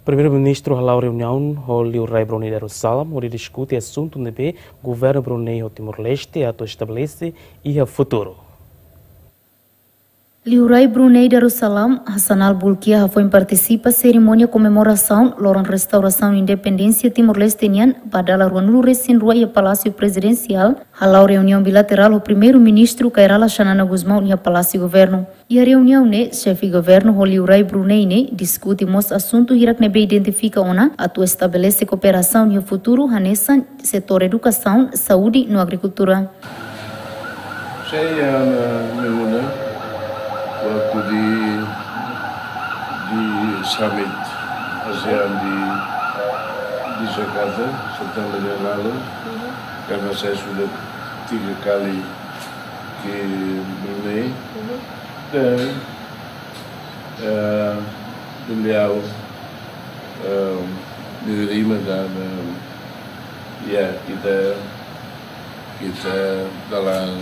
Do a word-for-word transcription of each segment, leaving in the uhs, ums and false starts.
Primeiru-Ministru hala'o reuniaun ho Liurai Brunei Darussalam hodi diskute asuntu ne'ebé governu Brunei ho Timor-Leste atu estabelese iha futuru. Liurai Brunei Darussalam, Hassanal Bolkiah, hafoin partisipa serimónia komemorasaun loron restaurasaun independénsia Timor-Leste nian ba dala ruanulu-resin-rua iha Palásiu Prezidensiál, hala'o reuniaun bilaterál ho Primeiru-Ministru Kay Rala Xanana Gusmão iha Palásiu Governu. Iha reuniaun ne'e, xefe governu ho Liurai Brunei ne'e diskute mós asuntu hirak ne'ebé identifika ona atu estabelese kooperasaun iha futuru, hanesan setór edukasaun, saúde no agrikultura. Sei iha ne'e, waktu di, di summit ASEAN di, di Jakarta, Setembru yang lalu, karena saya sudah tiga kali ke Brunei, dan, eh, beliau, eh, menerima dan, eh, ya, kita, kita dalam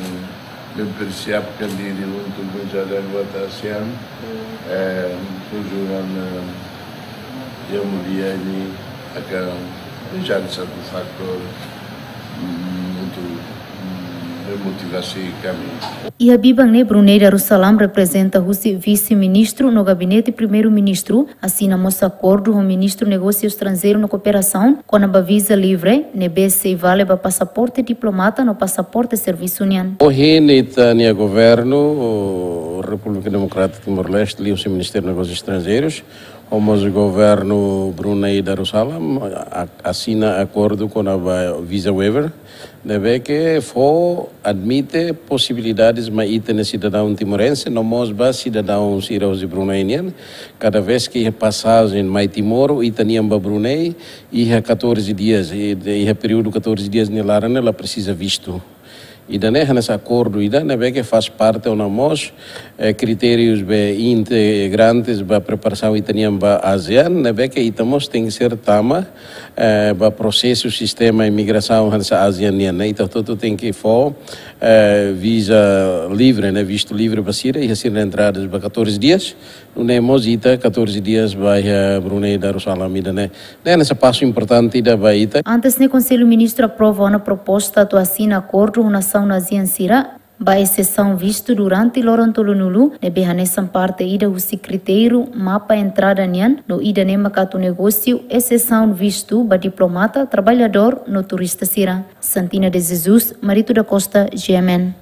mempersiapkan diri untuk menjadi anggota ASEAN. Eh, kunjungan, eh, yang mulia ini akan menjadi satu faktor, mm, untuk, mm, memotivasi kami. Iha biban ne'e, Brunei Darussalam reprezenta husi Vise-Ministru no Gabinete Primeiru-Ministru asina mós akordu ho Ministru Negósiu Estranjeiru no Kooperasaun kona-ba viza livre, ne'ebé sei vale ba pasaporte diplomata no pasaporte servisu nian. Ohin ita-nia governu, o, Repúblika Demokrátika Timor-Leste, liuhusi Ministériu Negósius Estranjeirus, ho mós governu Brunei Darussalam, a-, asina akordu kona-ba visa waiver, ne'ebé ke fó admite posibilidades mai ita-nia sidadaun timorense, no mós ba sidadaun sira husi Brunei nian, kada vez ke iha pasajen mai Timor, ita-nian ba Brunei, iha catorze dias, i, iha períodu catorze dias nia laran ne'e la presiza vistu. Ida-ne'e hanesan akordu ida ne'ebé ke faz parte ona mós, eh, kritérius be integrantes ba preparasaun ita-nian ba ASEAN, ne'ebé ke ita mós tenke ser tama, eh, ba prosesu sistema imigrasaun hanesan ASEAN nian, ne'e. Ita hotu-hotu tenke fó, eh, visa livre, ne'e, vistu livre ba sira, iha sira-nia entrada ba catorze dias, nune'e mós ita catorze dias ba iha Brunei Darussalam ida-ne'e. Ne'e hanesan pasu importante ida ba ita. Antes ne'e, Konsellu Ministru aprova ona proposta atu asina akordu ho nasaun ASEAN sira ba esesaun vistu durante loron tolunulu, ne'ebé hanesan parte ida husi kritériu mapa entrada nian, no ida-ne'e maka atu negósiu esesaun vistu ba diplomata, traballadór no turista sira. Santina de Jesus, Marito da Costa, G M N.